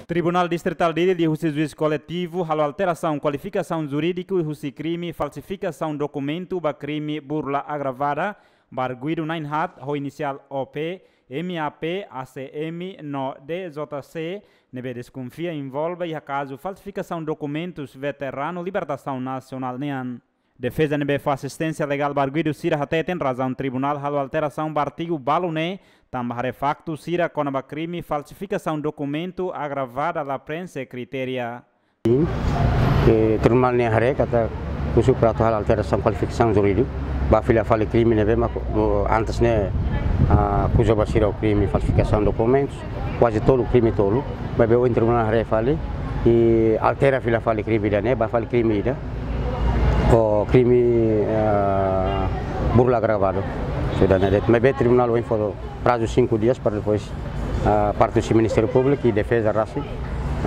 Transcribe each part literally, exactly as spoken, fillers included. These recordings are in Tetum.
Tribunál Distritál Dili liuhusi juís koletivu halo alterasaun kualifikasaun jurídiku husi krime falsifikasaun dokumentu ba krime burla agravada ba arguidu na'in-haat ho inisiál O P, M A P, A C M no D J C, ne'ebé deskonfia envolve iha kazu falsifikasaun dokumentus veteranu libertasaun nasionál nian. Defeza ne'ebé fó asisténsia legál ba arguidu sira hateten razaun tribunál halo alterasaun ba artigu balu ne'e tanba haree faktu sira kona-ba krime falsifikasaun dokumentu agravada la preenxe kritéria. Sin, eh, tribunál ne'e haree katak husu para atu halo alterasaun kualifikasaun jurídiku ba fila fali krime ne'ebé mak, o, antes ne'e, ah, akuza ba sira ho krime falsifikasaun dokumentus, kuaze tolu, krime tolu, maibé ohin tribunál haree fali i altera fila fali krime ida-ne'e ba fali krime ida, o krime, ah, burla agravadu. Sudah ne'e de'it, maibé tribunál ohin fó prazu cinco dias para depois, ah, parte husi Ministériu Públiku i defeza rasik,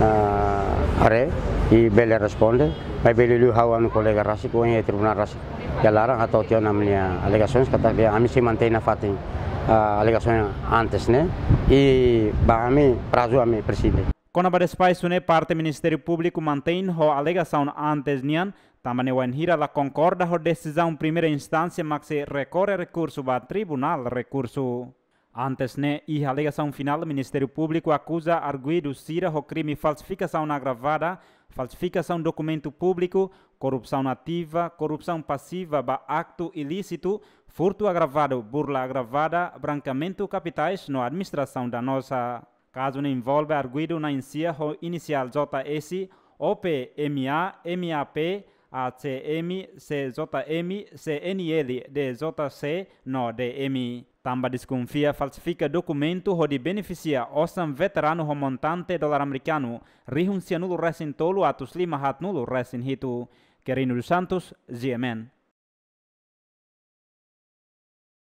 ah, haree i bele responde, maibé liuliu ha'u ho ha'u-nia kolega rasik, ohin iha tribunál rasik iha laran atu tiha ona ami-nia alegasoens, katak ami sei mantein nafatin, ah, alegasaun antes ne'e, i ba ami prazu ami preside. Kona-ba despaisu ne'e parte Ministériu Públiku mantein ho alegasaun antes nian, tanba ne'e wainhira la konkorda ho desizaun primeira instánsia mak sei rekorre rekursu ba Tribunál Rekursu. Antes ne'e, iha alegasaun finál, Ministériu Públiku akuza arguidu sira ho krime falsifikasaun agravada, falsifikasaun dokumentu públiku, korrupsaun ativa, korrupsaun pasiva ba aktu ilísitu, furtu agravadu, burla agravada, brankeamentu kapitais no administrasaun danoza. Kazu ne'e envolve arguidu na'in-sia ho inisiál J S, O P M A, M A P, A C M, C J M, C N L, D J C no D M. Tanba deskonfia falsifika dokumentu hodi benefisia osan veteranu ho montante dolar amerikanu rihun sianulu resin tolu atus lima haatnulu resin hitu. Quirino dos Santos, G M N.